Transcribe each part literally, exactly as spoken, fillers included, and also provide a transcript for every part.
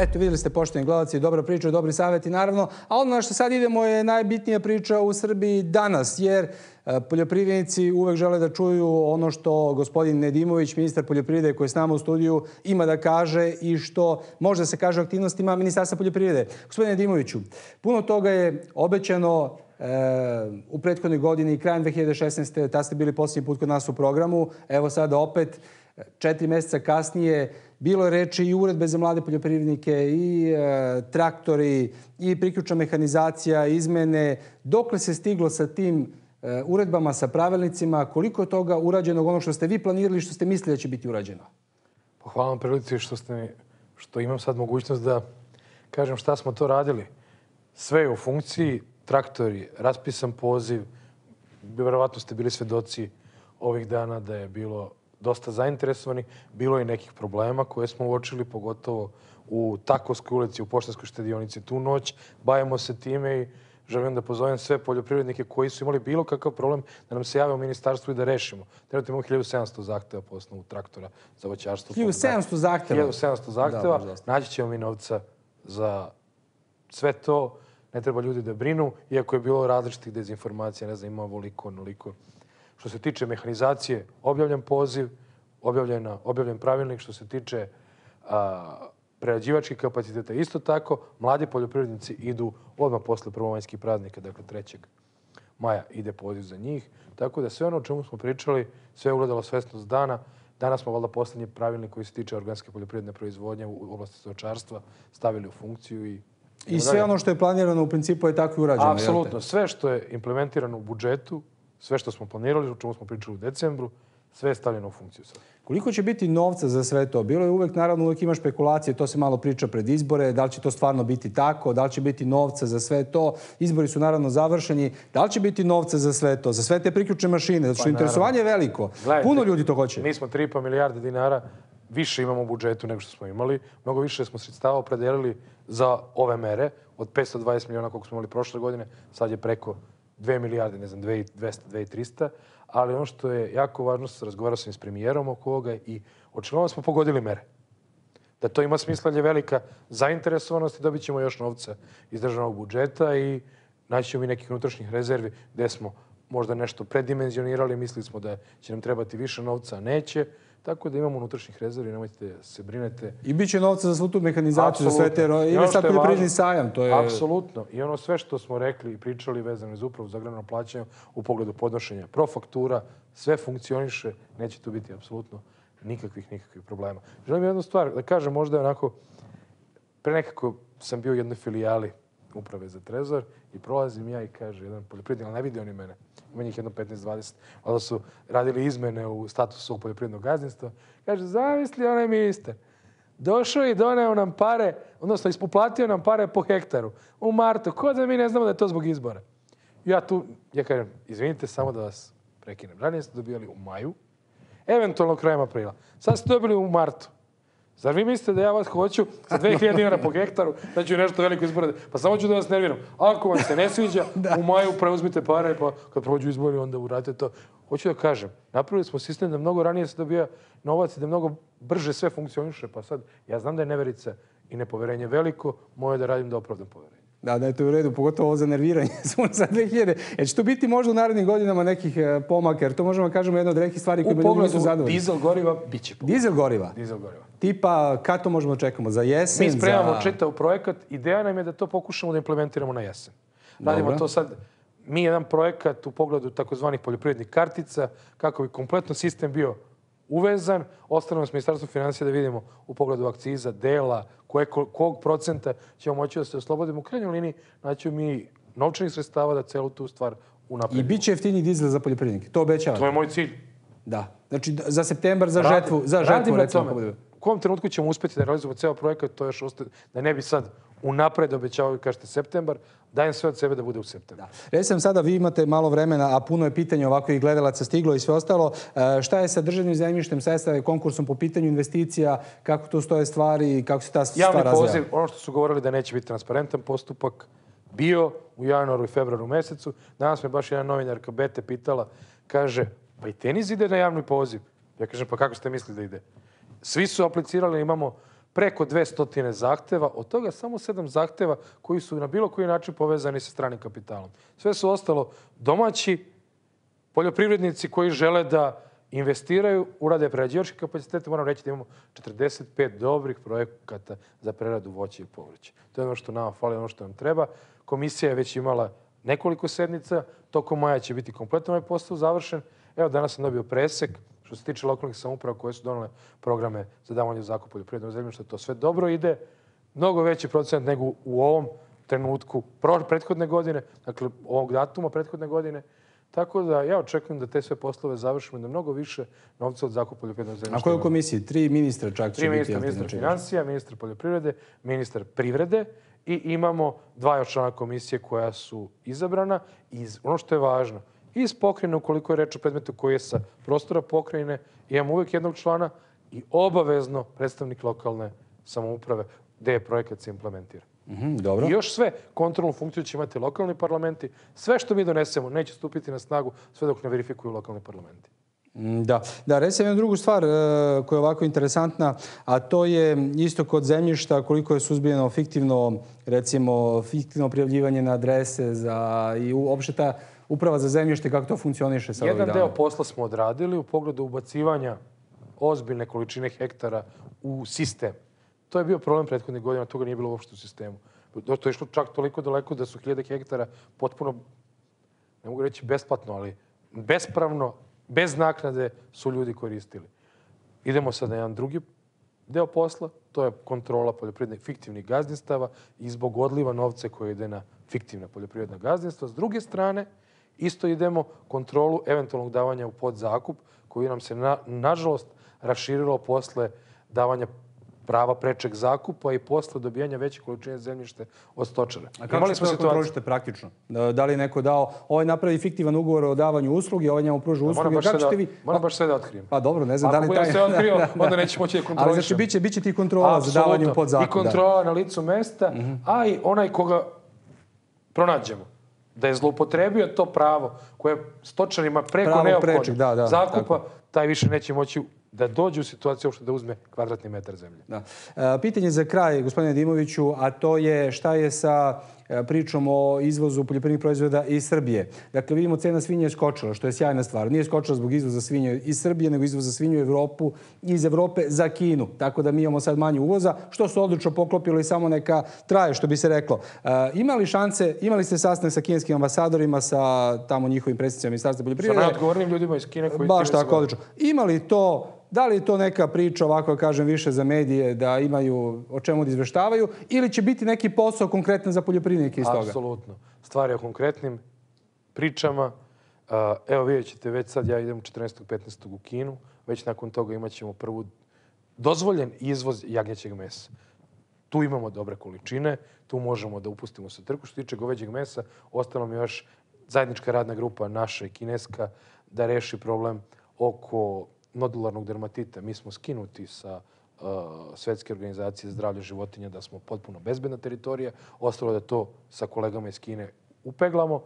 Eto, vidjeli ste, poštovani gledalci, dobra priča, dobri savjeti, naravno. A ono na što sad idemo je najbitnija priča u Srbiji danas, jer poljoprivrednici uvek žele da čuju ono što gospodin Nedimović, ministar poljoprivrede koji je s nama u studiju, ima da kaže i što može da se kaže o aktivnostima Ministarstva poljoprivrede. Gospodine Nedimoviću, puno toga je obećano u prethodnoj godini, krajem dve hiljade šesnaeste. Tad ste bili posljednji put kod nas u programu. Evo sada opet, četiri meseca kasnije, bilo je reči i uredbe za mlade poljoprivrednike, i traktori, i priključna mehanizacija, izmene. Dokle se stiglo sa tim uredbama, sa pravilnicima? Koliko je toga urađeno, ono što ste vi planirali, što ste mislili da će biti urađeno? Hvala vam prilici što, ste, što imam sad mogućnost da kažem šta smo to radili. Sve je u funkciji, traktori, raspisan poziv. Verovatno ste bili svedoci ovih dana da je bilo dosta zainteresovani. Bilo je nekih problema koje smo uočili, pogotovo u Takovskoj ulici, u Poštanskoj štedionici tu noć. Bavimo se time i želim da pozovem sve poljoprivrednike koji su imali bilo kakav problem da nam se jave u ministarstvu i da rešimo. Trenutno imamo hiljadu sedamsto zahteva po osnovu traktora za voćarstvo. hiljadu sedamsto zahteva? hiljadu sedamsto zahteva. Naći ćemo mi novca za sve to. Ne treba ljudi da brinu, iako je bilo različitih dezinformacija, ne znam, ima ovoliko, onoliko. Što se tiče mehanizacije, objavljen poziv, objavljen, objavljen pravilnik. Što se tiče a, prerađivačkih kapaciteta, isto tako, mladi poljoprivrednici idu odmah posle prvomanjskih praznika, dakle trećeg maja ide poziv za njih. Tako da sve ono o čemu smo pričali, sve je ugledalo svesnost dana. Danas smo valjda poslednji pravilnik koji se tiče organske poljoprivredne proizvodnje u oblasti stočarstva stavili u funkciju i I sve ono što je planirano u principu je tako i urađeno. Apsolutno. Sve što je implementirano u budžetu, sve što smo planirali, o čemu smo pričali u decembru, sve je stavljeno u funkciju. Koliko će biti novca za sve to? Bilo je uvek, naravno, uvek ima špekulacije, to se malo priča pred izbore, da li će to stvarno biti tako, da li će biti novca za sve to. Izbori su naravno završeni. Da li će biti novca za sve to, za sve te priključne mašine? Zato što interesovanje je veliko. Puno ljudi to hoće. Mi smo tri i po milijarde dinara više imamo u budžetu nego što smo imali. Mnogo više smo sredstava opredelili za ove mere. Od petsto dvadeset miliona koliko smo imali prošle godine, sad je preko dve milijarde, ne znam, dve i dvesta, dve i trista. Ali ono što je jako važno, razgovarao sam i s premijerom oko ovoga i očigledno smo pogodili mere. Da to ima smisla, je velika zainteresovanost i dobit ćemo još novca iz državnog budžeta i naći ćemo i nekih unutrašnjih rezervi gde smo možda nešto predimenzionirali, mislili smo da će nam trebati više novca, a neće. Tako da imamo unutrašnjih rezervi, nemojte se brinete. I bit će novca za svu tu mehanizaciju, za sve te... Ili sad poljoprivredni sajam, to je... Apsolutno. I ono sve što smo rekli i pričali vezano za upravu za agrarno plaćanje u pogledu podnošenja profaktura, sve funkcioniše, neće tu biti apsolutno nikakvih, nikakvih problema. Želim jednu stvar da kažem, možda je onako... Pre nekako sam bio u jednoj filijali uprave za trezor i prolazim ja i kaže jedan poljoprivrednik, ali ne vidi oni mene. Ima njih jedno petnaest dvadeset. Onda su radili izmene u statusu svog poljoprivrednog gazdinstva. Kaže, zamisli onaj ministar. Došao i doneo nam pare, odnosno ispoplatio nam pare po hektaru u martu. Ko da mi ne znamo da je to zbog izbora? Ja tu, ja kažem, izvinite, samo da vas prekinem. Ranije ste dobijali u maju, eventualno krajem aprila. Sad ste dobili u martu. Zar vi mislite da ja vas hoću za dve hiljade dinara po hektaru, da ću nešto veliko izbore? Pa samo ću da vas nerviram. Ako vam se ne sviđa, u maju preuzmite pare, pa kad prođu izbori, onda uradite to. Hoću da kažem, napravili smo sistem da mnogo ranije se dobija novac i da mnogo brže sve funkcioniše. Pa sad, ja znam da je neverica i nepoverenje veliko, moje da radim da opravdam poverenje. Da, da je to u redu, pogotovo ovo za nerviranje. Za dve hiljade. Jer će to biti možda u narednim godinama nekih pomaka, jer to možemo da kažemo jedna od rekih stvari koje ljudi nisu zadovoljni. Dizel goriva bit će pomaka. Dizel goriva? Dizel goriva. Tipa, kad to možemo čekamo? Za jesen? Mi spremamo čitav projekat. Ideja nam je da to pokušamo da implementiramo na jesen. Radimo to sad, mi jedan projekat u pogledu takozvanih poljoprivrednih kartica, kako bi kompletno sistem bio uvezan. Ostalo s Ministarstvom finansija da vidimo u pogledu akciza, dela, kog procenta ćemo moći da se oslobodimo. U krajnjoj liniji naći mi novčanih sredstava da celu tu stvar unapredimo. I bit će jeftiniji dizel za poljoprivrednike. To obećavate? To je moj cilj. Da. Znači za septembar, za žetvu. Radimo na tome. U kom trenutku ćemo uspjeti da realizujemo ceo projekat, to još ostaje, da ne bi sad unapred obećavali, kažete septembar, dajem sve od sebe da bude u septembru. Recimo sada vi imate malo vremena, a puno je pitanja ovako i gledalaca stiglo i sve ostalo. Šta je sa državnim zemljištem, sa konkursom po pitanju investicija, kako tu stoje stvari i kako se ta stvar razvija? Javni poziv, ono što su govorili da neće biti transparentan postupak, bio u januaru i februaru mesecu. Danas me baš jedna novinarka Bete pitala, kaže, pa i tenis ide na javni poziv. Ja kažem, pa kako ste mislili da ide? Svi su aplicirali, imamo preko dvesta zahteva, od toga samo sedam zahteva koji su na bilo koji način povezani sa stranim kapitalom. Sve su ostalo domaći poljoprivrednici koji žele da investiraju, urade prerađivačke kapacitete. Moram reći da imamo četrdeset pet dobrih projekata za preradu voća i povrća. To je ono što nama fali, ono što nam treba. Komisija je već imala nekoliko sednica. Tokom maja će biti kompletno ovaj posao završen. Evo, danas sam dobio presek što se tiče lokalnih samouprava koje su donale programe za davanje u zakup poljoprivrednog zemljišta. To sve dobro ide. Mnogo veći procent nego u ovom trenutku prethodne godine, dakle ovog datuma prethodne godine. Tako da ja očekujem da te sve poslove završimo i da mnogo više novca od zakupa poljoprivrednog zemljišta. A koje u komisiji? Tri ministra čak će Tri biti. ministra, ministar financija, ministar poljoprivrede, ministar privrede i imamo dva još člana komisije koja su izabrana. I ono što je važno, iz pokrajine, ukoliko je reč o predmetu koji je sa prostora pokrajine, imamo uvijek jednog člana i obavezno predstavnik lokalne samouprave gde je projekat se implementira. Mm, dobro. I još sve kontrolnu funkciju će imati lokalni parlamenti. Sve što mi donesemo neće stupiti na snagu sve dok ne verifikuju lokalni parlamenti. Da, da, recimo jednu drugu stvar koja je ovako interesantna, a to je isto kod zemljišta koliko je suzbijeno fiktivno, recimo, fiktivno prijavljivanje na adrese za, i uopšte ta uprava za zemljište, kako to funkcioniše sa ovih dana? Jedan deo posla smo odradili u pogledu ubacivanja ozbiljne količine hektara u sistem. To je bio problem prethodnih godina, toga nije bilo uopšte u sistemu. To je išlo čak toliko daleko da su hiljade hektara potpuno, ne mogu reći besplatno, ali bespravno, bez naknade su ljudi koristili. Idemo sad na jedan drugi deo posla, to je kontrola poljoprivrednih fiktivnih gazdinstava i zbog odliva novca koji ide na fiktivna poljoprivredna gazdinstva. S druge strane, isto idemo kontrolu eventualnog davanja u podzakup, koji nam se, na, nažalost, raširilo posle davanja prava prečeg zakupa i posle dobijanja veće količine zemljište od stočara. A kako ćete to kontrolište praktično? Da li je neko dao, ovaj napravi fiktivan ugovor o davanju usluge, ovaj njemu pruža usluge, kako ćete vi... Moram baš sve da otkrijem. Pa dobro, ne znam da li taj... Ako budem sve otkrio, onda neće moći da kontrolišem. Ali znači bit će ti kontrola za davanje u podzakup. I kontrola na licu mesta, a i onaj koga pronađemo da je zloupotrebio to pravo koje stočarima preko neophodno zakupa, taj više neće moći da dođe u situaciju uopšte da uzme kvadratni metar zemlje. Da. Pitanje za kraj, gospodine Dimoviću, a to je šta je sa pričom o izvozu poljoprivrednih proizvoda iz Srbije. Dakle, vidimo cena svinje je skočila, što je sjajna stvar. Nije skočila zbog izvoza svinje iz Srbije, nego izvoza svinje u Evropu, iz Evrope za Kinu. Tako da mi imamo sad manje uvoza, što se odlično poklopilo i samo neka traje, što bi se reklo. Imali šanse, imali ste sastanak sa kineskim ambasadorima, sa tamo njihovim predstavnicima Ministarstva poljoprivrede? Sa najodgovornijim ljudima iz Kine koji... Baš tako, odlično. Imali to... Da li je to neka priča, ovako kažem, više za medije, da imaju o čemu da izveštavaju, ili će biti neki posao konkretan za poljoprivrednike iz toga? Apsolutno. Stvar je o konkretnim pričama. Evo, vidjet ćete, već sad ja idem četrnaestog petnaestog u Kinu. Već nakon toga imat ćemo prvu dozvoljen izvoz jagnjećeg mesa. Tu imamo dobre količine, tu možemo da upustimo sa trku. Što tiče goveđeg mesa, ostalo mi još zajednička radna grupa naša i kineska da reši problem oko nodularnog dermatita. Mi smo skinuti sa uh, Svetske organizacije zdravlja životinja da smo potpuno bezbedna teritorija. Ostalo da to sa kolegama iz Kine upeglamo.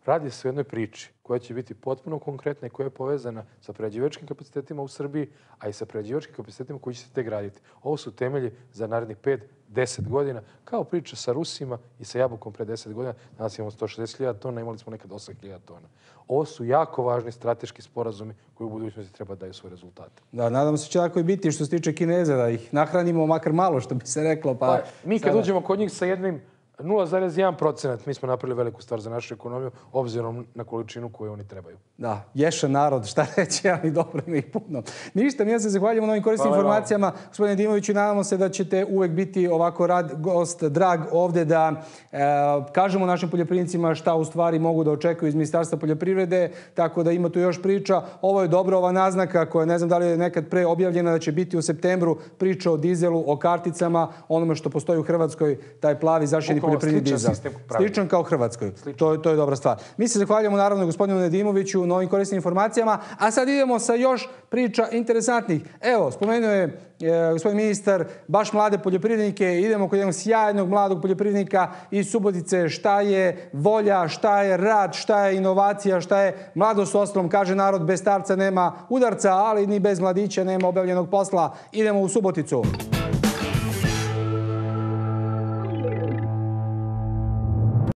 Radi se o jednoj priči koja će biti potpuno konkretna i koja je povezana sa prerađivačkim kapacitetima u Srbiji, a i sa prerađivačkim kapacitetima koji će se te graditi. Ovo su temelji za narednih pet do deset godina, kao priča sa Rusima i sa jabukom pre deset godina. Danas imamo sto šezdeset hiljada tona, imali smo nekad osam hiljada tona. Ovo su jako važni strateški sporazumi koji u budućnosti treba daju svoje rezultate. Da, nadam se će tako i biti što se tiče Kineza, da ih nahranimo makar malo, što bi se reklo. Pa, pa mi kad sada... uđemo kod njih sa jednim nula zarez jedan procenat mi smo napravili veliku stvar za našu ekonomiju, obzirom na količinu koju oni trebaju. Da, ješan narod, šta reći, ali dobro ima ih puno. Ništa, mi ja se zahvaljujemo na ovim korisnim informacijama. Gospodine Dimoviću, nadamo se da ćete uvek biti ovako rad, gost, drag ovde da e, kažemo našim poljoprivrednicima šta u stvari mogu da očekuju iz Ministarstva poljoprivrede, tako da ima tu još priča. Ovo je dobra ova naznaka koja ne znam da li je nekad pre objavljena da će biti u septembru priča o dizelu, o karticama, onome što postoji u Hrvatskoj, taj plavi zaštićeni poljoprivredni dizel. Sličan kao Hrvatskoj. To, to je dobra stvar. Mi se zahvaljujemo naravno gospodinu Nedimoviću na ovim korisnim informacijama, a sad idemo sa još priča interesantnih. Evo, spomenuo je e, gospodin ministar baš mlade poljoprivrednike. Idemo kod jednog sjajnog mladog poljoprivrednika iz Subotice. Šta je volja, šta je rad, šta je inovacija, šta je mladost u ostalom. Kaže narod, bez starca nema udarca, ali ni bez mladića nema obavljenog posla. Idemo u Suboticu.